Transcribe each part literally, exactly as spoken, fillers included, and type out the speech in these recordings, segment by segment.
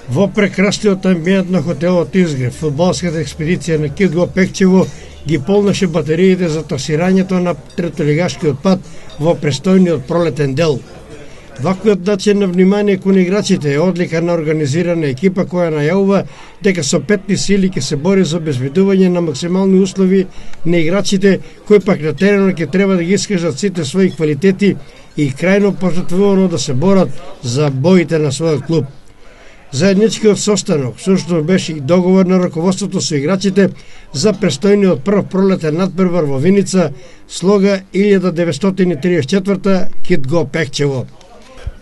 Во прекрасниот амбиент на хотелот Изгрев, фудбалската експедиција на Кид Го Пекчево ги полнеше батериите за тасирањето на третолигашкиот пат во престојниот пролетен дел. Ваквиот начин на внимание кон играчите е одлика на организирана екипа која најавува дека со петни сили ќе се бори за обезбедување на максимални услови на играчите кои пак на теренот ќе треба да ги искажат сите своји квалитети и крајно пожртвувано да се борат за боите на својот клуб. Заедничкиот состанок сушто беше и договор на раководството со играчите за престојниот прв пролетен надпревар во Виница, слога илјада деветстотини триесет и четврта Кид Го Пекчево.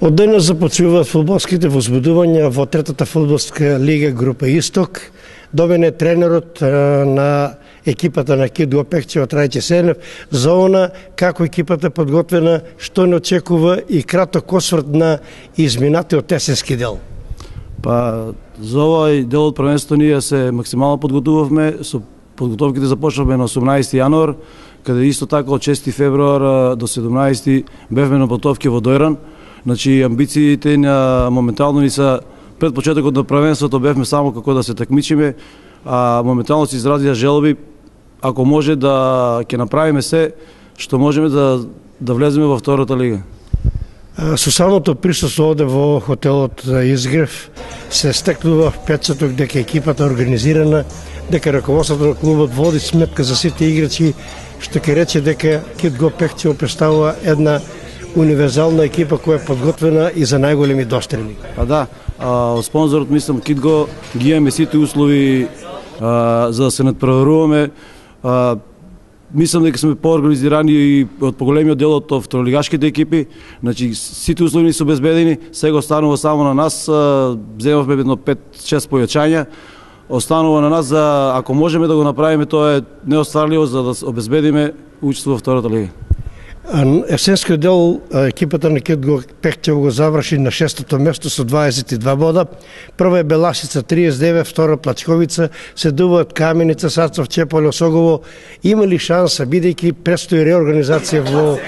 Од денес започнуваат фудбалските возбудувања во третата фудбалска лига група Исток. Довен е тренерот на екипата на Кид Го Пекчево Трајче Сенев за она како екипата подготвена, што не очекува и краток осврт на изминатиот есенски дел. Па за овој дел од првенството ние се максимално подготувавме, со подготовките започнавме на осумнаесети јануар, каде исто така од шести февруар до седумнаесети бевме на подготовки во Дојран. Значи амбициите на моментално ни са пред почетокот на првенството бевме само како да се такмичиме, а моментално се изразија желби ако може да ќе направиме се што можеме да да влеземе во втората лига. Со самото присуство овде во хотелот Изгрев се стекнува впечаток дека екипата е организирана, дека раководството на клубот води сметка за сите играчи, што ќе рече дека Кид Го Пекчево представува една универзална екипа која е подготвена и за најголеми дострели. А да, а, спонзорот мислам Кид Го ги имаме сите услови а, за да се надпреваруваме. А, Мислам дека сме поорганизирани и од поголемиот дел од второлигашките екипи. Значи сите услови се обезбедени, сега останува само на нас, земавме едно пет-шест појачања. Останува на нас за ако можеме да го направиме, тоа е неостварливо за да обезбедиме учество во втората лига. Есенскиот дел екипата на Кид Го Пекчево го заврши на шестото место со дваесет и два бода. Прва е Беласица триесет и девет, втора Плачковица, следуваат Каменица, Сацов, Чеполе, Осогово. Има ли шанса, бидејќи предстои реорганизација во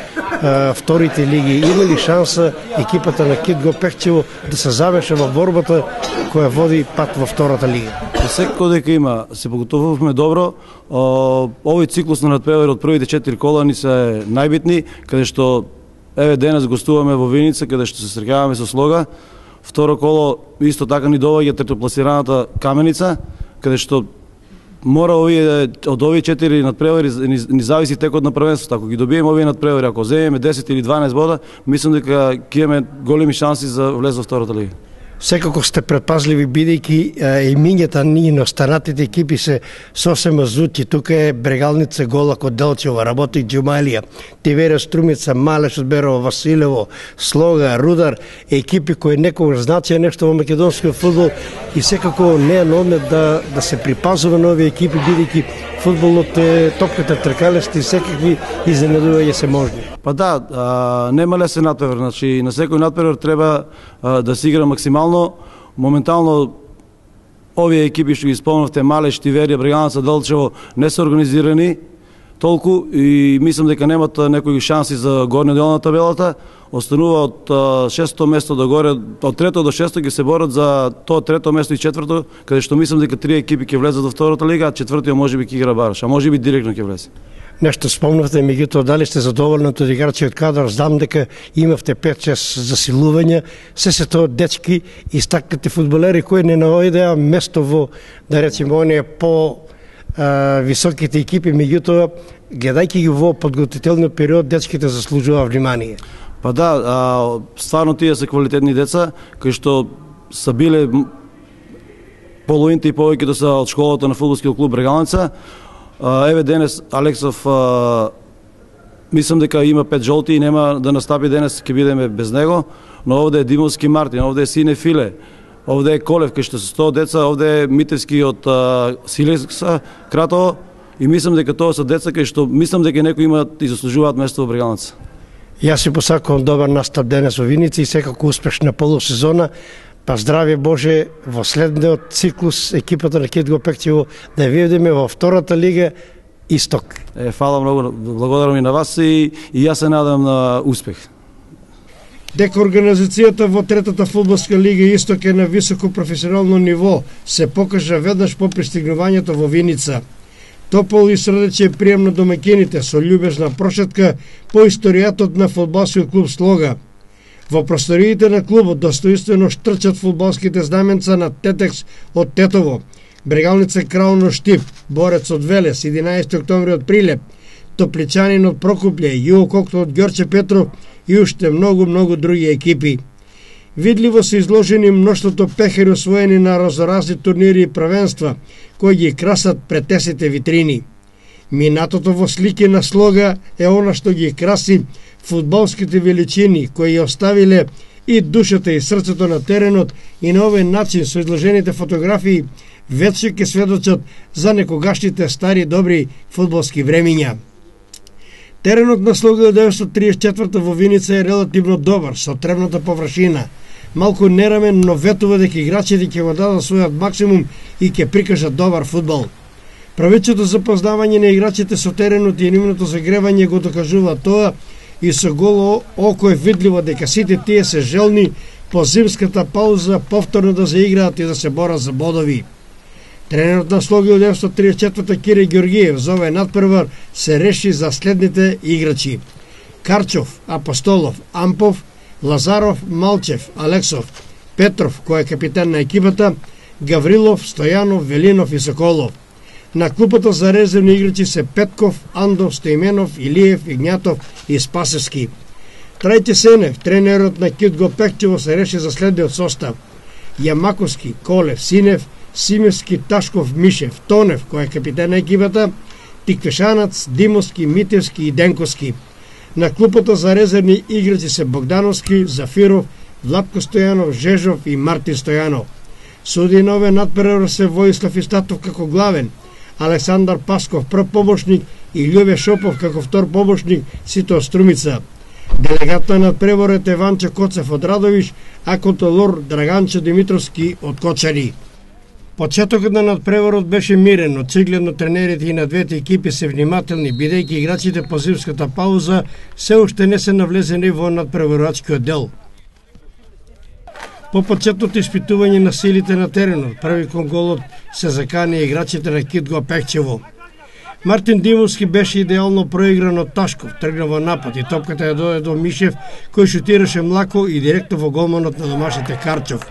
а, вторите лиги, има ли шанса екипата на Кид Го Пекчево да се заврши во борбата која води пат во втората лига? Секако дека има, се подготовувавме добро. Овој циклус на надпревари од првите четири кола ни се најбитни, каде што еве денес гостуваме во Виница, каде што се среќаваме со Слога. Второ коло исто така ни доаѓа третопласираната Каменица, каде што мора овие од овие четири надпревари ни, ни зависи текот на првенството. Ако ги добиеме овие надпревари, ако земеме десет или дванаесет бода, мислам дека ќе имаме големи шанси за влез во втората лига. Секако сте предпазливи, бидејќи имињата ни на останатите екипи се сосема зути. Тука е Брегалница, Голак од Делчева, Работик Џумалија, Тивера Струмица, Малеш од Берово, Василево, Слога, Рудар, екипи кои некогаш значеа нешто во македонскиот фудбал и секако не е на одмет да, да се припазува на овие екипи, бидејќи фудбалот е топката тркалест и секакви изненадувања се можни. Па да, а, нема лесен надпревар, значи на секој надпревар треба а, да се игра максимално. Моментално овие екипи што ги спомнавте, Малеш, Тиверија, Брегалница, Делчево, не се организирани толку и мислам дека немат некои шанси за горниот дел на табелата. Останува од шесто место до горе, од трето до шесто ќе се борат за тоа трето место и четврто, каде што мислам дека три екипи ќе влезат во втората лига, а четвртиот можеби ќе игра бараш, а можеби директно ќе влезе. Нешто спомнавте, меѓутоа дали сте задоволни од играчиот кадар? Знам дека имавте пет-шест засилувања, се се тоа дечки и стакнати фудбалери кои не наоѓаат место во, да речеме, оние по а, високите екипи, меѓутоа гледајќи ги во подготвителниот период, дечките заслужува внимание. Па да, а, стварно тие се квалитетни деца, кои што са биле половината и повеќето се од школата на фудбалскиот клуб Брегалница. Еве денес Алексов, а, мислам дека има пет жолти и нема да настапи денес, ќе бидеме без него, но овде е Димовски Мартин, овде е Сине Филе, овде е Колев, кај што се сто деца, овде е Митевски од Силекса, Кратово, и мислам дека тоа се деца кај што мислам дека некои имаат и заслужуваат место во Брегалница. Јас си посакувам добар настап денес во Виница и секако успешна полусезона. Па здравје Боже во следниот циклус екипата на Кид Го Пекчево да видиме во втората лига Исток. Е, фала многу, благодарам и на вас и, и јас се надам на успех. Дека организацијата во третата фудбалска лига Исток е на високо професионално ниво, се покажа веднаш по пристигнувањето во Виница. Топол и срдече прием на домаќините со љубезна прошетка по историјатот на фудбалскиот клуб Слога. Во просториите на клубот достоинствено штрчат фудбалските знаменца на Тетекс од Тетово, Брегалница Краун од Штип, Борец од Велес, единаесети октомври од Прилеп, Топличанин од Прокупле, Јуококто од Ѓорче Петров и уште многу-многу други екипи. Видливо се изложени мноштвото пехари освоени на разноразни турнири и првенства, кои ги красат претесите витрини. Минатото во слики на Слога е она што ги краси фудбалските величини, кои ја оставиле и душата и срцето на теренот, и на овој начин со изложените фотографии вече ќе сведочат за некогашните стари добри фудбалски времиња. Теренот на Слога деветстотини триесет и четврта во Виница е релативно добар, со тревната површина. Малку нерамен, но ветува дека играчите ќе го дадат својот максимум и ќе прикажат добар фудбал. Правечето запознавање на играчите со теренот и нивното загревање го докажува тоа, и со голо око е видливо дека сите тие се желни по зимската пауза повторно да заиграат и да се борат за бодови. Тренерот на Слога од деветстотини триесет и четврта Кире Ѓоргиев за овој надпревар се реши за следните играчи: Карчов, Апостолов, Ампов, Лазаров, Малчев, Алексов, Петров, кој е капитан на екипата, Гаврилов, Стојанов, Велинов и Соколов. На клупата за резервни играчи се Петков, Андов, Стоименов, Илиев, Игњатов и Спасевски. Трајче Сенев, тренерот на Кидго Пекчево, се реши за следниот состав: Јамаковски, Колев, Синев, Симевски, Ташков, Мишев, Тонев, кој е капитан на екипата, Тиквешанац, Димовски, Митевски и Денковски. На клупата за резервни играчи се Богдановски, Зафиров, Владко Стојанов, Жежов и Мартин Стојанов. Суди на овој надпревар се Воислав Истатов како главен, Александар Пасков прв помошник и Љубе Шопов како втор помошник, сите од Струмица. Делегат на надпреварот е Ванче Коцев од Радовиш, а контролор Драганче Димитровски од Кочари. Почетокот на надпреварот беше мирен, очигледно тренерите и на двете екипи се внимателни, бидејќи играчите по зимската пауза се уште не се навлезени во надпреварачкиот дел. По почетното испитување на силите на теренот, први кон голот се закани играчите на Кидго Пекчево. Мартин Димовски беше идеално проигран од Ташков, тргна во напад и топката ја дојде до Мишев, кој шутираше млако и директно во голманот на домашните Карчов.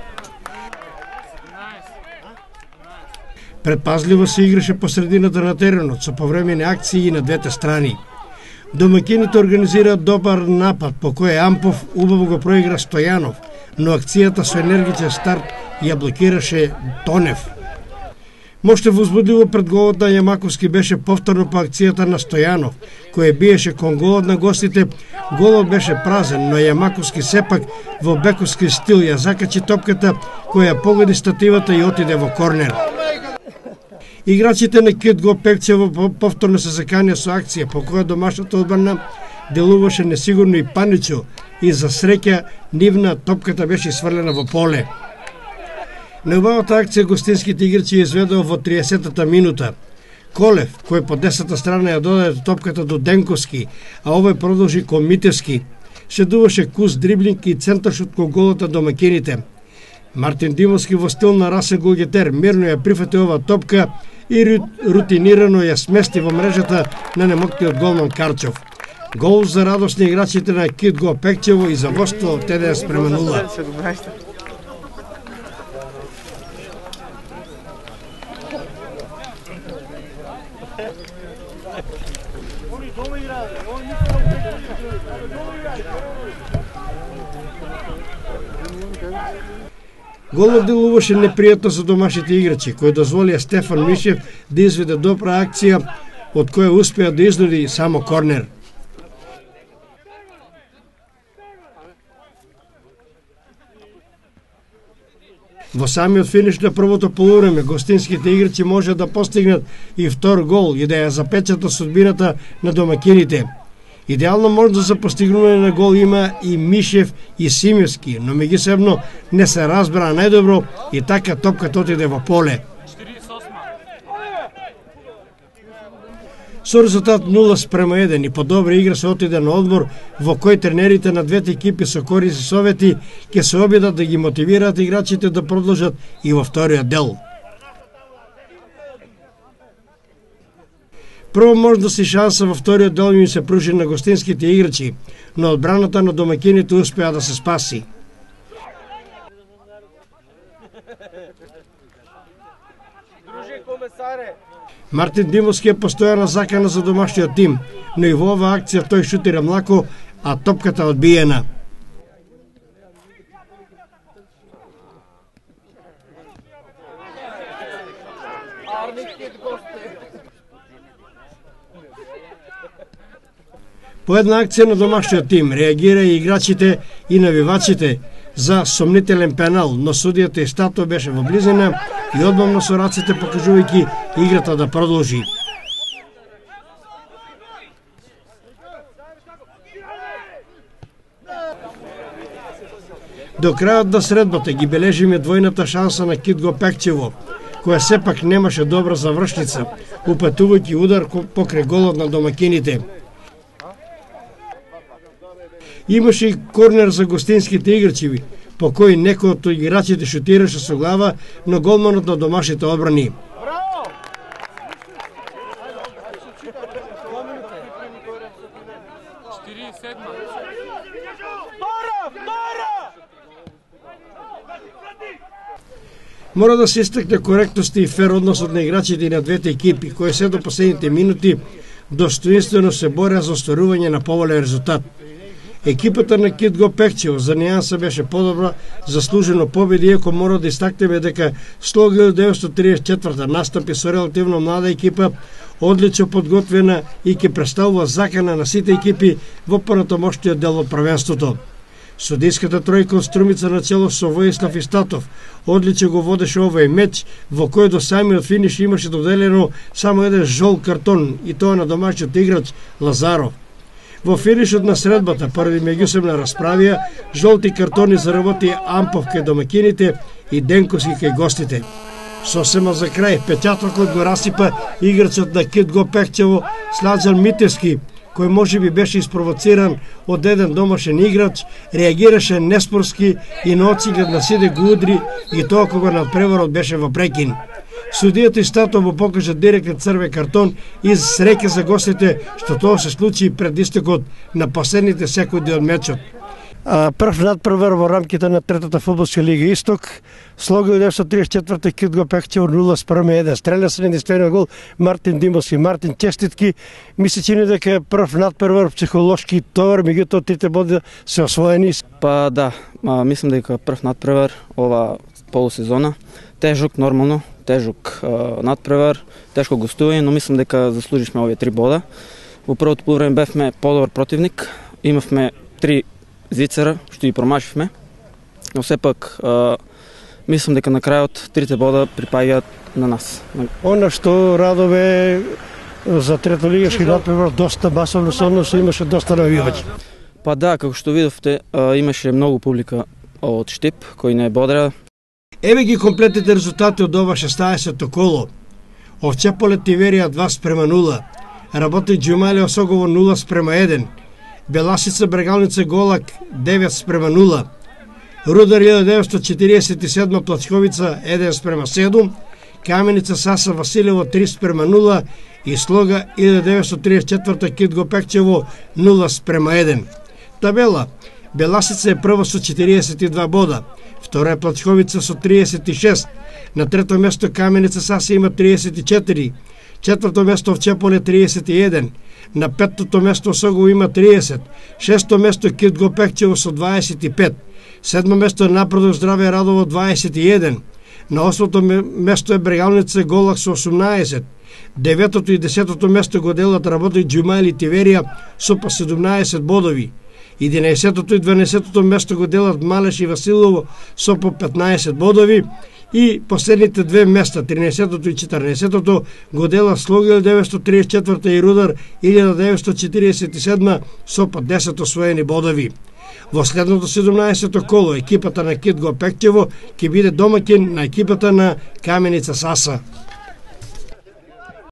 Предпазливо се играше по средината на теренот, со повремени акции на двете страни. Домаќините организираат добар напад, по кој Ампов убаво го проигра Стојанов, но акцијата со енергичен старт ја блокираше Тонев. Моште возбудливо пред голот на Јамаковски беше повторно по акцијата на Стојанов, кој биеше кон голот на гостите. Голот беше празен, но Јамаковски сепак во бековски стил ја закачи топката, која погоди стативата и отиде во корнер. Играчите на Кидго Пекчево повторно се заканија со акција, по која домашната одбрана делуваше несигурно и паничо, и за среќа нивна топката беше сврлена во поле. Неубавата акција гостинските играчи изведоа во триесеттата минута. Колев, кој по десната страна ја додаде топката до Денковски, а овој продолжи кон Митевски, шедуваше кус дриблинг и центаршот кон голата домаќините. Мартин Димовски во стил на Расен Голгетер мирно ја прифати ова топка и рутинирано ја смести во мрежата на немоктиот голман Карчов. Гол за радост на играчите на Кидго Пекчево и за водство ТДС према нула. Голот делуваше непријатно за домашните играчи, кои дозволија Стефан Мишев да изведе добра акција, од која успеа да изнуди само корнер. Во самиот финиш на првото полувреме, гостинските играчи може да постигнат и втор гол и да ја запечатат судбината на домаќините. Идеална можност за постигнување на гол има и Мишев и Симевски, но меѓусебно не се разбра најдобро и така топката отиде во поле. Со резултат нула спрема еден и по добра игра се отиде на одмор во кој тренерите на двете екипи со користни совети ќе се обидат да ги мотивираат играчите да продолжат и во вториот дел. Прво можност и шанса во вториот дел им се пружи на гостинските играчи, но одбраната на домаќините успеа да се спаси. Мартин Димовски е постојана закана за домашниот тим, но и во оваа акција тој шутира млако, а топката одбиена. По една акција на домашниот тим реагира и играчите и навивачите за сомнителен пенал, но судијата и Стато беше во близина и одмамно со раците покажувајќи играта да продолжи. До крајот на средбата ги бележиме двојната шанса на Китго Пекчево, која сепак немаше добра завршница, упатувајќи удар покрај голот на домакините. Имаше и корнер за гостинските играчи, по кој некој од играчите шутираше со глава, но голманот на домашните одбрани. Мора да се истакне коректност и фер односот на играчите и на двете екипи, кои се до последните минути достоинствено се боря за остварување на поволен резултат. Екипата на Китго Пекчево за нејанса беше подобра, заслужено победи, иако мора да истакнеме дека со илјада деветстотини триесет и четврта настапи со релативно млада екипа, одлично подготвена и ќе представува закана на сите екипи во понатамошниот дел од првенството. Судиската тројка од Струмица на чело со Воислав Истатов одлично го водеше овој меч, во кој до самиот финиш имаше доделено само еден жол картон, и тоа на домашниот играч Лазаров. Во финишот на средбата, поради меѓусебна расправија, жолти картони заработи Ампов кај домакините и Денковски кај гостите. Сосема за крај, печатокот го расипа играчот на Китго Пекчево Сладжан Митевски, кој можеби беше испровоциран од еден домашен играч, реагираше неспорски и на очиглед на сите го удри, и тоа кога надпреварот беше во прекин. Судијата и Стато му покажа директен црвен картон и среќа за гостите што тоа се случи пред истекот на последните секунди од мечот. Прв надпревар во рамките на третата фудбалска лига Исток, со илјада деветстотини триесет и четврта Китго Пекчево нула спрема еден. Стреля се единствениот гол Мартин Димовски. Мартин, честитки. Ми се чини дека е прв надпревар, психолошки товар, меѓутоа трите боди се освоени. Па да, а, мислам дека прв надпревар ова полусезона. Тежок нормално, тежок а, надпревар, тешко гостување, но мислам дека заслуживме овие три бода. Во првото полувреме бевме подобар противник, имавме три зицера што ги промашивме, но сепак а, мислам дека на крајот трите бода припаѓаат на нас. Она што радове за третолигашки надпревар доста масовно се односи, имаше доста навивачи. Па да, како што видовте, а, имаше многу публика од Штип кој не бодра. Еве ги комплетните резултати од ова шеснаесетто коло. Овчеполе Тиверија два спрема нула, Работи Џумали Осогово нула спрема еден, Беласица Брегалница Голак девет спрема нула, Рудар илјада деветстотини четириесет и седма Плачковица еден спрема седум, Каменица Саса Василево три спрема нула и Слога илјада деветстотини триесет и четврта Китго Пекчево нула спрема еден. Табела: Беласица е прва со четириесет и два бода, втора е Плачковица со триесет и шест, на трето место Каменица Саса има триесет и четири, четврто место Овчеполе триесет и еден, на петтото место Осогово има триесет, шесто место Китго Пекчево со дваесет и пет, седмо место е Напредок Здраве Радово дваесет и еден, на осмото место е Брегалница Голак со осумнаесет, деветото и десетото место го делат Работи Џумали Тиверија со по седумнаесет бодови, единаесетото и дванаесетото место го делат Малеш и Василово со по петнаесет бодови и последните две места, тринаесетото и четирнаесетото, го делат Слога илјада деветстотини триесет и четврта и Рудар илјада деветстотини четириесет и седма со по десет освоени бодови. Во следното седумнаесетто коло екипата на Китго Пекчево ќе биде домаќин на екипата на Каменица Саса.